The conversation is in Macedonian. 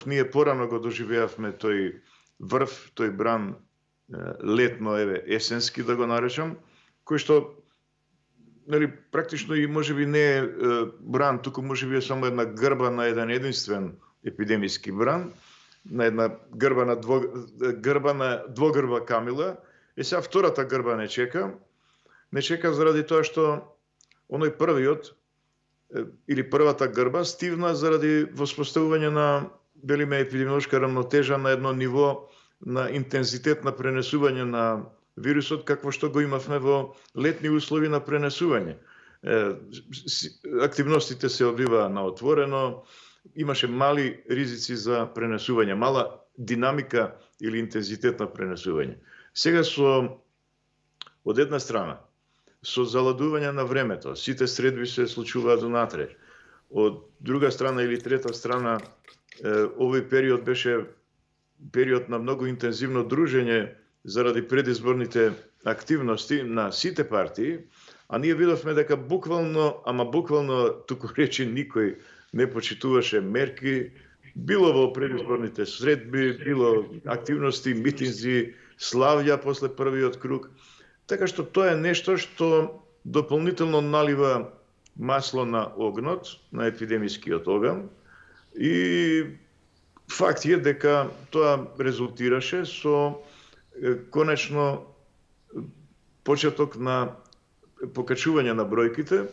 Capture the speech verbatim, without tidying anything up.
ние порано го доживеавме тој врв, тој бран летно, еве, есенски да го наречам, кој што нели практично и можеби не е бран, туку можеби е само една грба на еден единствен епидемиски бран, на една грба на дво, грба на двогрба камила. Е сега втората грба не чека. Не чека заради тоа што оној првиот или првата грба стивна заради воспоставување на велиме епидемиолошка рамнотежа на едно ниво на интензитет на пренесување на вирусот, какво што го имавме во летни услови на пренесување. Активностите се одвиваа на отворено, имаше мали ризици за пренесување, мала динамика или интензитет на пренесување. Сега со, од една страна, со заладување на времето, сите средби се случуваат унатре. Од друга страна или трета страна, овој период беше период на многу интензивно дружење заради предизборните активности на сите партии, а ние видовме дека буквално, ама буквално, туку речи, никој не почитуваше мерки, било во предизборните средби, било активности, митинзи, славја после првиот круг. Така што тоа е нешто што дополнително налива масло на огнот, на епидемискиот оган, и факт е дека тоа резултираше со конечно почеток на покачување на бројките,